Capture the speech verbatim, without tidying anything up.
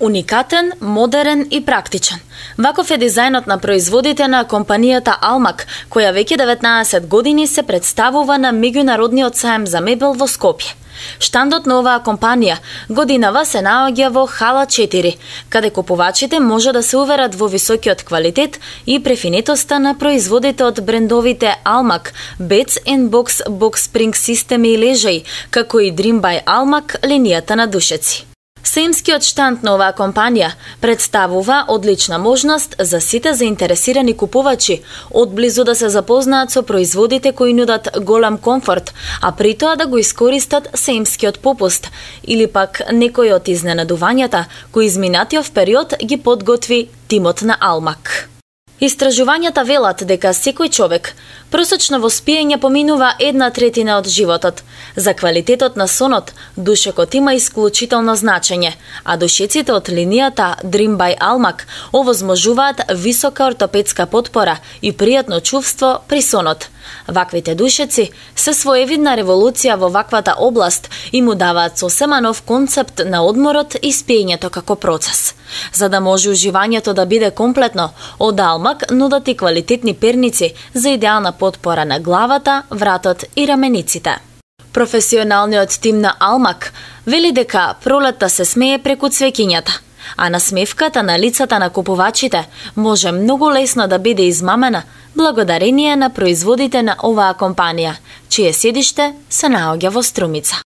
Уникатен, модерен и практичен. Ваков е дизајнот на производите на компанијата Алмак, која веќе деветнаесет години се представува на меѓународниот саем за мебел во Скопје. Штандот на оваа компанија годинава се наоѓа во Хала четири, каде купувачите може да се уверат во високиот квалитет и префинетоста на производите од брендовите Алмак, Beds and Box, Box Spring системи и лежаи, како и Dream by Алмак, линијата на душеци. Саемскиот штанд на оваа компанија представува одлична можност за сите заинтересирани купувачи одблизу да се запознаат со производите кои нудат голем комфорт, а при тоа да го искористат саемскиот попуст или пак некој од изненадувањата кои изминатиот период ги подготви тимот на Алмак. Истражувањата велат дека секој човек просечно во спиење поминува една третина од животот. За квалитетот на сонот, душекот има исклучително значење, а душеците од линијата Dream by Алмак овозможуваат висока ортопедска потпора и пријатно чувство при сонот. Ваквите душеци се своевидна револуција во ваквата област и му даваат сосема нов концепт на одморот и спиењето како процес. За да може уживањето да биде комплетно, од Алмак нудат и квалитетни перници за идеална потпора на главата, вратот и рамениците. Професионалниот тим на Алмак вели дека пролетта се смее преку цвеќињата, а насмевката на лицата на купувачите може многу лесно да биде измамена благодарение на производите на оваа компанија, чие седиште се наоѓа во Струмица.